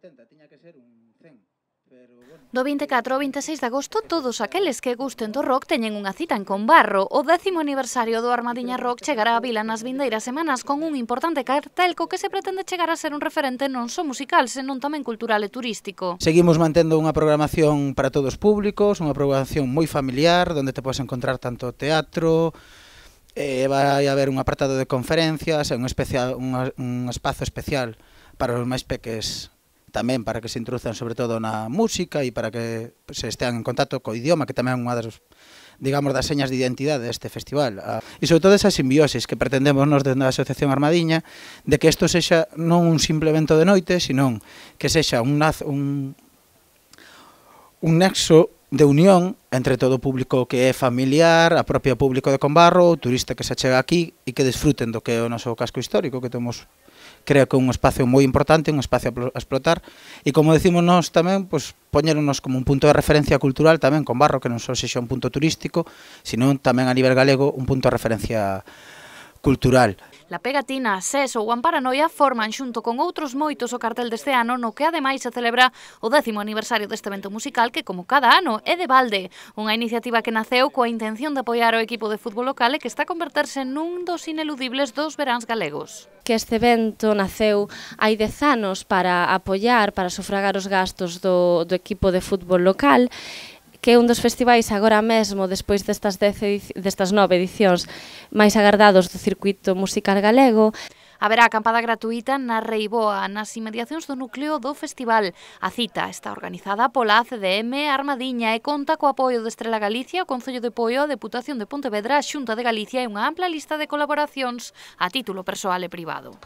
70, tiña que ser un 100. Do 24 ao 26 de agosto, todos aqueles que gusten do rock teñen unha cita en Combarro. O 10º aniversario do Armadiña Rock chegará á vila nas vindeiras semanas con un importante cartel co que se pretende chegar a ser un referente non só musical, senón tamén cultural e turístico. Seguimos mantendo unha programación para todos os públicos, unha programación moi familiar, onde te podes encontrar tanto teatro, vai haber un apartado de conferencias, un espazo especial para os máis peques, tamén para que se introduzan sobre todo na música e para que se estean en contacto co idioma, que tamén é unha das, digamos, das señas de identidade deste festival. E sobre todo esa simbiosis que pretendemos nos dentro da Asociación Armadiña, de que isto sexa non un simple evento de noite, sino que sexa un nexo de unión entre todo o público que é familiar, a propia público de Combarro, o turista que se achega aquí e que desfruten do que é o noso casco histórico, que temos, creo que un espacio moi importante, un espacio a explotar, e como decimos nós tamén, pois, poñernos como un punto de referencia cultural tamén Combarro, que non só sexa un punto turístico, sino tamén a nivel galego un punto de referencia cultural. La Pegatina, SES ou Amparanoia forman xunto con outros moitos o cartel deste ano, no que ademais se celebra o 10º aniversario deste evento musical que, como cada ano, é de balde. Unha iniciativa que naceu coa intención de apoiar o equipo de fútbol local e que está a converterse nun dos ineludibles dos veráns galegos. Que este evento naceu hai 10 anos para apoiar, para sufragar os gastos do equipo de fútbol local, que é un dos festivais agora mesmo, despois destas 9 edicións máis agardados do circuito musical galego. Haberá acampada gratuita na Reiboa, nas inmediacións do núcleo do festival. A cita está organizada pola ACDM Armadiña e conta co apoio de Estrela Galicia, o Concello de Poio, a Deputación de Pontevedra, a Xunta de Galicia e unha ampla lista de colaboracións a título persoal e privado.